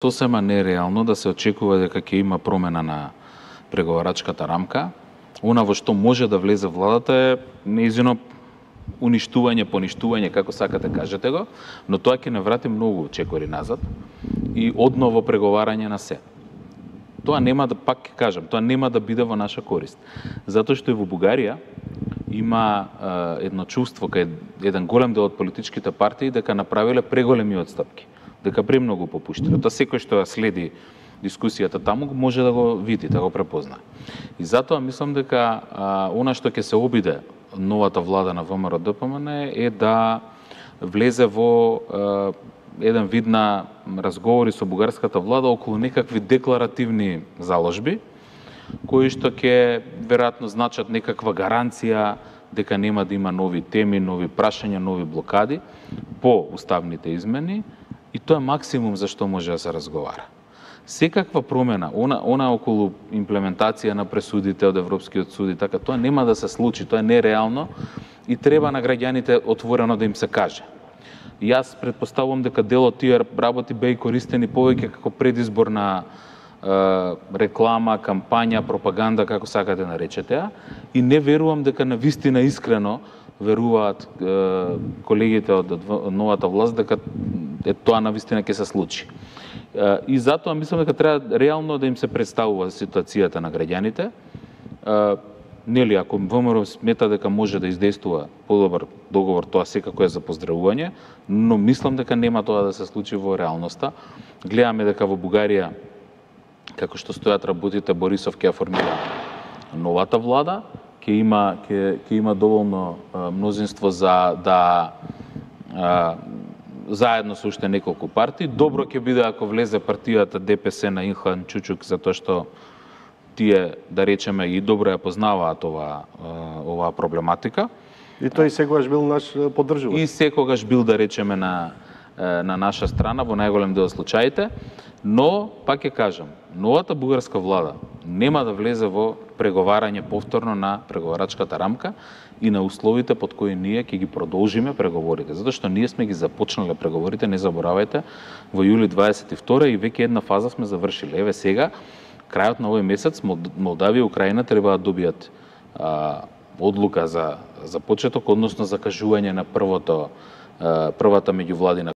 Сосема нереално да се очекува дека ќе има промена на преговарачката рамка. Она во што може да влезе владата е нејзино уништување, поништување, како сакате кажете го, но тоа ќе не врати многу чекори назад и одново преговарање на се. Тоа нема да, пак ќе кажам, тоа нема да биде во наша корист. Затоа што и во Бугарија има едно чувство кај еден голем дел од политичките партии дека направиле преголеми отстапки, дека премногу попуштиле. Тоа секој што следи дискусијата таму може да го види, да го препозна. И затоа мислам дека она што ќе се обиде новата влада на ВМРО-ДПМН е да влезе во еден вид на разговори со бугарската влада околу некакви декларативни заложби, кои што ќе веројатно значат некаква гаранција дека нема да има нови теми, нови прашања, нови блокади по уставните измени, и тоа е максимум за што може да се разговара. Секаква промена, она околу имплементација на пресудите од Европскиот суд и така, тоа нема да се случи, тоа е нереално и треба на граѓаните отворено да им се каже. Јас претпоставувам дека дел од тие работи беа користени повеќе како предизборна реклама, кампања, пропаганда, како сакате наречете ја, и не верувам дека навистина искрено веруваат колегите од новата власт дека тоа навистина ќе се случи. И затоа мислам дека треба реално да им се представува ситуацијата на граѓаните. Нели, ако ВМРО смета дека може да издействува подобар договор, тоа секако е за поздравување, но мислам дека нема тоа да се случи во реалноста. Гледаме дека во Бугарија, како што стојат работите, Борисов ќе ја формира новата влада, ќе има доволно мнозинство за да заедно со уште неколку партии. Добро ќе биде ако влезе партијата ДПС на Илхан Чучук, затоа што тие, да речеме, и добро ја познаваат оваа проблематика. И тој секогаш бил наш поддржувач. И секогаш бил, да речеме, на наша страна во најголем дел од случаите, но, пак ќе кажам, новата бугарска влада нема да влезе во преговарање повторно на преговарачката рамка и на условите под кои ние ќе ги продолжиме преговорите. Затоа што ние сме ги започнале преговорите, не заборавајте, во јули 22 и веќе една фаза сме завршиле. Еве сега, крајот на овој месец, Молдавија и Украина треба да добијат одлука за почеток, односно закажување на првата меѓувладина